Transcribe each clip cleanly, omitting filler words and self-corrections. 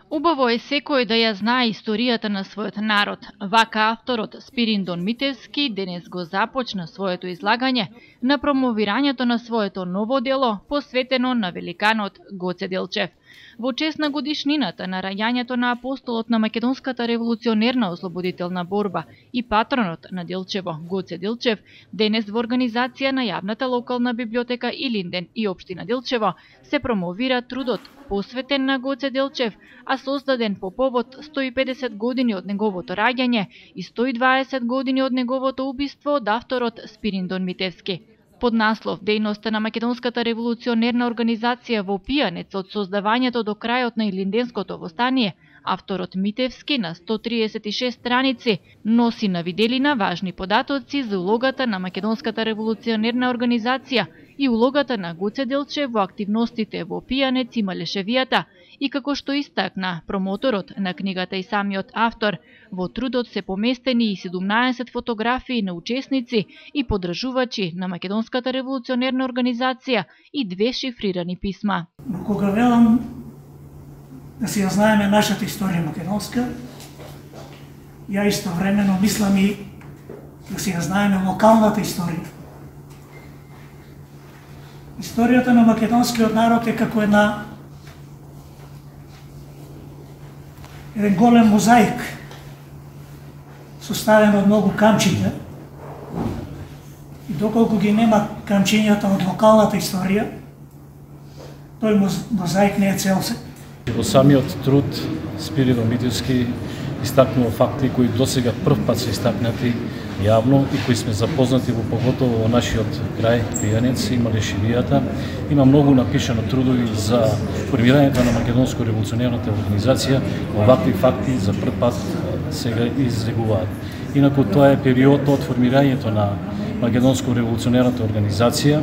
Убаво е секој да ја знае историјата на својот народ. Вака авторот Спириндон Митевски денес го започна своето излагање на промовирањето на своето ново дело посветено на великанот Гоце Делчев. Во чест на годишнината на раѓањето на апостолот на македонската револуционерна ослободителна борба и патронот на Делчево, Гоце Делчев, денес во организација на јавната локална библиотека Илинден и општина Делчево се промовира трудот посветен на Гоце Делчев, а создаден по повод 150 години од неговото раѓање и 120 години од неговото убиство од авторот Спириндон Митевски. Под наслов Дејноста на македонската револуционерна организација во Пијанец од создавањето до крајот на Илинденското востание, авторот Митевски на 136 страници носи на виделина важни податоци за улогата на македонската револуционерна организација и улогата на Гоце Делчев во активностите во Пијанец и Малешевијата, и како што истакна промоторот на книгата и самиот автор, во трудот се поместени и 17 фотографии на учесници и подржувачи на македонската револуционерна организација и 2 шифрирани писма. Кога велам да си ја знаеме нашата историја македонска, ја истовремено мислам и да си ја знаеме локалната историја. Историјата на македонскиот народ е како еден голем мозаик, составен од многу камчиња, и доколку ги нема камчињата од локалната историја, тој мозаик не е целосен. Во самиот труд Спириндон Митевски истакнува факти кои досега прв пат се истакнати јавно и кои сме запознати во поготово во нашиот крај Пијанец и Малешевијата. Има многу напишано трудови за формирањето на македонско револуционерната организација. Овакви факти за прв пат сега излегуваат. Инаку тоа е период од формирањето на македонско револуционерната организација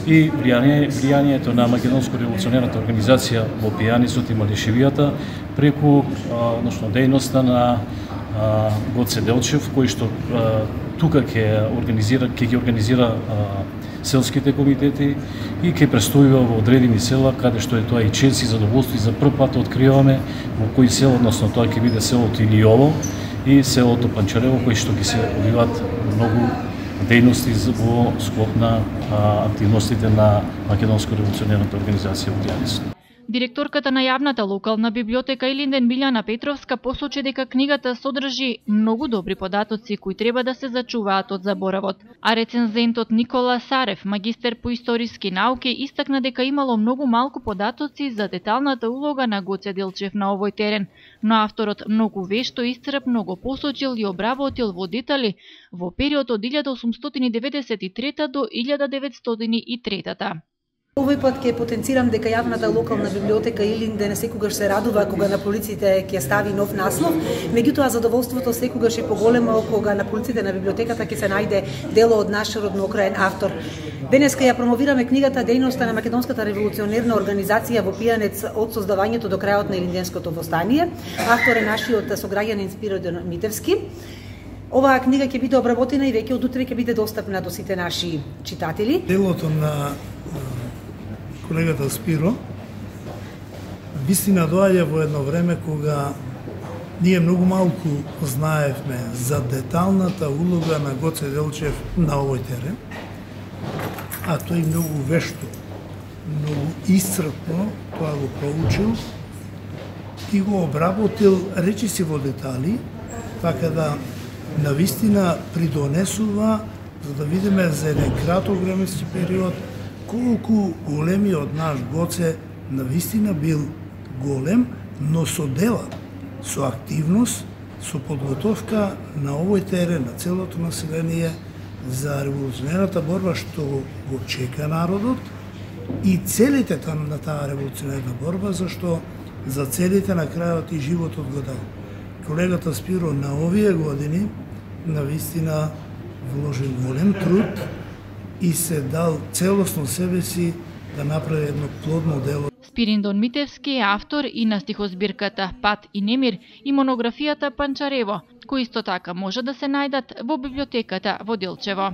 и влијанието на македонско револуционерната организација во Пијанецот и Малешевијата преку дејноста на Гоце Делчев, кој што тука ќе ги организира селските комитети и ќе престојува во одредени села, каде што е тоа и чест и задоволство, и за прв пат откриваме во кои села, односно тоа ќе биде селото Илиово и селото Панчарево, кои што ќе се одвиваат многу дејности во склоп на активностите на македонско револуционерната организација во Пијанец. Директорката на јавната локална библиотека Илинден Билјана Петровска посочи дека книгата содржи многу добри податоци кои треба да се зачуваат од заборавот, а рецензентот Никола Сарев, магистер по историски науки, истакна дека имало многу малку податоци за деталната улога на Гоце Делчев на овој терен, но авторот многу вешто и исцрпно го посочил и обработил во детали во период од 1893 до 1903. Овој пат ќе потенцирам дека јавната локална библиотека Илинден секогаш се радува кога на полиците ќе стави нов наслов, меѓутоа задоволството секогаш е поголемо кога на полиците на библиотеката ќе се најде дело од наш роднокраен автор. Денеска ја промовираме книгата Дејноста на македонската револуционерна организација во Пијанец од создавањето до крајот на Илинденското востание. Автор е нашиот сограѓанин Спириндон Митевски. Оваа книга ќе биде обработена и веќе од утре ќе биде достапна до сите наши читатели. Делото на колегата Спиро вистина доаѓа во едно време кога ние многу малку знаевме за деталната улога на Гоце Делчев на овој терен, а тој многу вешто, многу исцрпно тоа го проучил и го обработил речиси во детали, така да навистина придонесува за да видиме за еден краток временски период колку големиот наш Гоце навистина бил голем, но со дела, со активност, со подготовка на овој терен, на целото население за револуционерната борба што го чека народот и целите на таа револуционерна борба, зашто за целите на крајот и животот го дал. Колегата Спиро на овие години навистина вложил голем труд и се дал целосно себе си да направи едно плодно дело. Спириндон Митевски е автор и на стихозбирката Пат и немир и монографијата Панчарево, кои исто така може да се најдат во библиотеката во Делчево.